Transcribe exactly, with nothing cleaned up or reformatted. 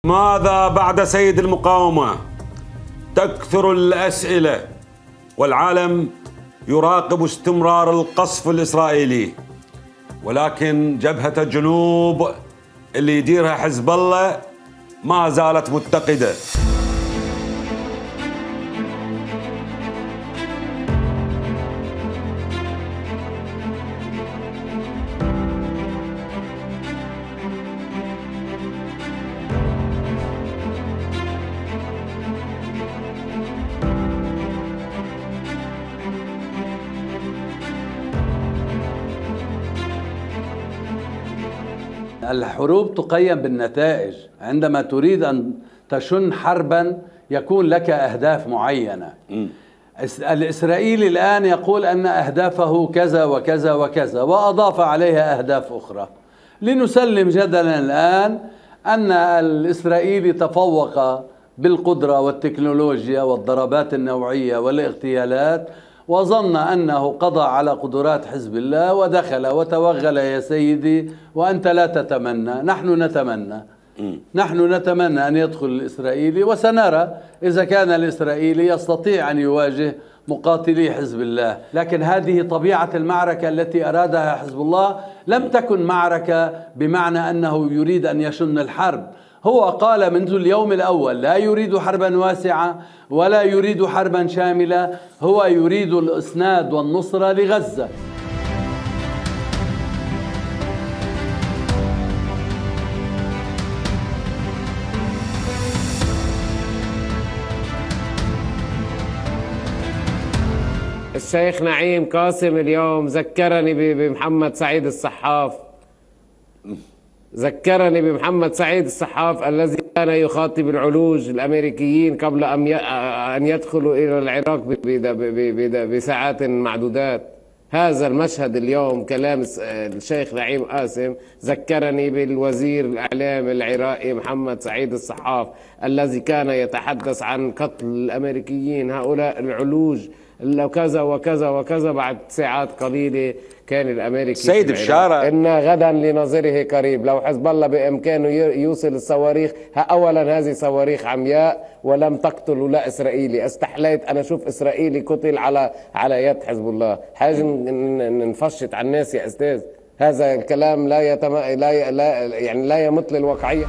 ماذا بعد سيد المقاومة؟ تكثر الأسئلة والعالم يراقب استمرار القصف الإسرائيلي، ولكن جبهة الجنوب اللي يديرها حزب الله ما زالت متقدة. الحروب تقيم بالنتائج. عندما تريد أن تشن حربا يكون لك أهداف معينة. م. الإسرائيلي الآن يقول أن أهدافه كذا وكذا وكذا، وأضاف عليها أهداف أخرى. لنسلم جدلا الآن أن الإسرائيلي تفوق بالقدرة والتكنولوجيا والضربات النوعية والاغتيالات، وظن أنه قضى على قدرات حزب الله ودخل وتوغل يا سيدي، وأنت لا تتمنى، نحن نتمنى. نحن نتمنى أن يدخل الإسرائيلي، وسنرى إذا كان الإسرائيلي يستطيع أن يواجه مقاتلي حزب الله. لكن هذه طبيعة المعركة التي أرادها حزب الله، لم تكن معركة بمعنى أنه يريد أن يشن الحرب. هو قال منذ اليوم الأول لا يريد حربا واسعة ولا يريد حربا شاملة، هو يريد الإسناد والنصرة لغزة. الشيخ نعيم قاسم اليوم ذكرني بمحمد سعيد الصحاف، ذكرني بمحمد سعيد الصحاف الذي كان يخاطب العلوج الأمريكيين قبل أن يدخلوا إلى العراق بساعات معدودات. هذا المشهد اليوم كلام الشيخ نعيم قاسم ذكرني بالوزير الإعلام العراقي محمد سعيد الصحاف الذي كان يتحدث عن قتل الأمريكيين هؤلاء العلوج لو كذا وكذا وكذا. بعد ساعات قليلة كان الأمريكي سيد بشارة إن غدا لنظيره قريب. لو حزب الله بإمكانه يوصل الصواريخ، أولا هذه صواريخ عمياء ولم تقتل ولا إسرائيلي. استحليت أنا أشوف إسرائيلي قتل على على يد حزب الله. حاجة نفشت على الناس يا أستاذ. هذا الكلام لا يتم لا, لا يعني لا يمت للواقعية.